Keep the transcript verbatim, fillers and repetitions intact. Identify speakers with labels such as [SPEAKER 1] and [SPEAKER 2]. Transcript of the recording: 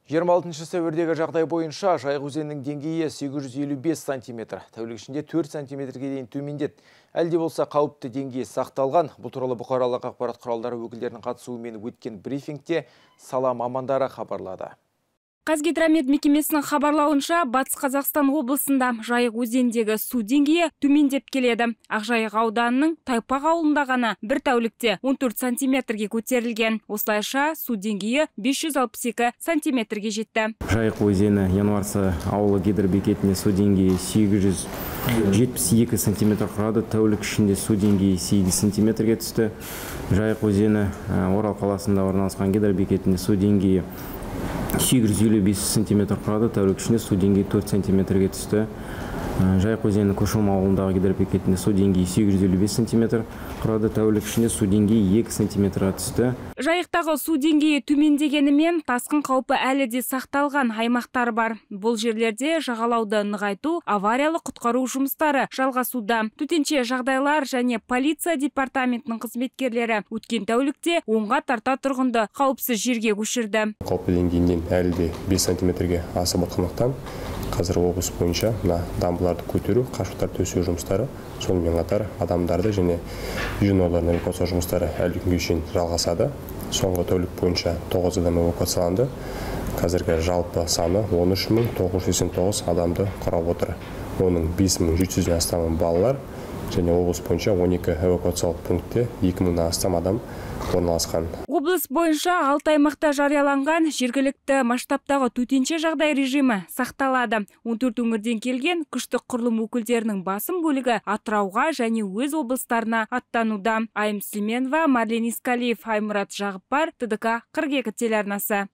[SPEAKER 1] жиырма алтыншы сәуірдегі жағдай бойынша Жайық өзенінің деңгейі сегіз жүз елу бес сантиметр, тәулік ішінде төрт сантиметрге дейін төмендеді. Әлде болса қауіпті деңгей сақталған. Бұл туралы бұқаралық ақпарат құралдары өкілдерінің қатысуымен өткен брифингте сала мамандары хабарлады.
[SPEAKER 2] Қазгидромет мекемесінің хабарлауынша, Батыс Қазақстан облысында Жайық өзеніндегі су деңгейі төмендеп келеді. Ақжайық ауданының Тайпақ ауылында ғана бір тәулікте он төрт сантиметрге көтерілген. Осылайша су деңгейі бес жүз алпыс екі сантиметрге жетті.
[SPEAKER 3] Жайық өзені Январсы ауылы гидробекетінде су деңгейі сегіз жүз жетпіс екі сантиметр құрады. Тәулік ішінде су деңгейі сегіз сантиметрге түсті. Жайық өзені Орал қаласында орналасқан гидробекетінде су деңгейі сегіз жүз елу бес сантиметр құрады. Тәулік ішінде су деңгейі төрт сантиметрге түсті. Жайық өзені Көшім ауылындағы гидробекетінде су деңгейі сегіз жүз елу бес сантиметр құрады. Тәулік ішінде су деңгейі екі сантиметрға түсті.
[SPEAKER 2] Жайықтағы су деңгейі төмендегенімен тасқын қаупі әлі де сақталған аймақтар бар. Бұл жерлерде жағалауды нығайту, авариялық құтқару жұмыстары жалғасуда. Төтенше жағдайлар және полиция департаментінің қызметкерлері өткен тәулікте онға тарта тұрғынды қауіпсіз жерге көшірді.
[SPEAKER 4] Қауіпті деңгейінен әлі де бес сантиметрге асып отқандықтан қазір облыс бойынша дамбыларды көтеру, қашықтар төсеу жұмыстары, сонымен қатар адамдарды және жиналарын эвакуация жұмыстары әлі күнге шейін жалғасады. Соңғы тәулік бойынша тоғыз адам эвакуацияланды. Қазіргі жалпы саны он үш мың тоғыз жүз сексен тоғыз адамды құрап отыр. Оның бес мың жеті жүзден астамы балалар және облыс бойынша он екі эвакуациялық пунктте екі мыңнан астам адам орналасқан.
[SPEAKER 2] Облыс бойынша алты аймақта жарияланған жергілікті масштабтағы төтенше жағдай режимі сақталады. он төрт өңірден келген күштік құрылым өкілдерінің басым бөлігі Атырауға және өз облыстарына аттануда. Айым Сүлейменова, Марлен Искалиев, Аймұрат Жағыппар, Т Д К қырық екі телеарнасы.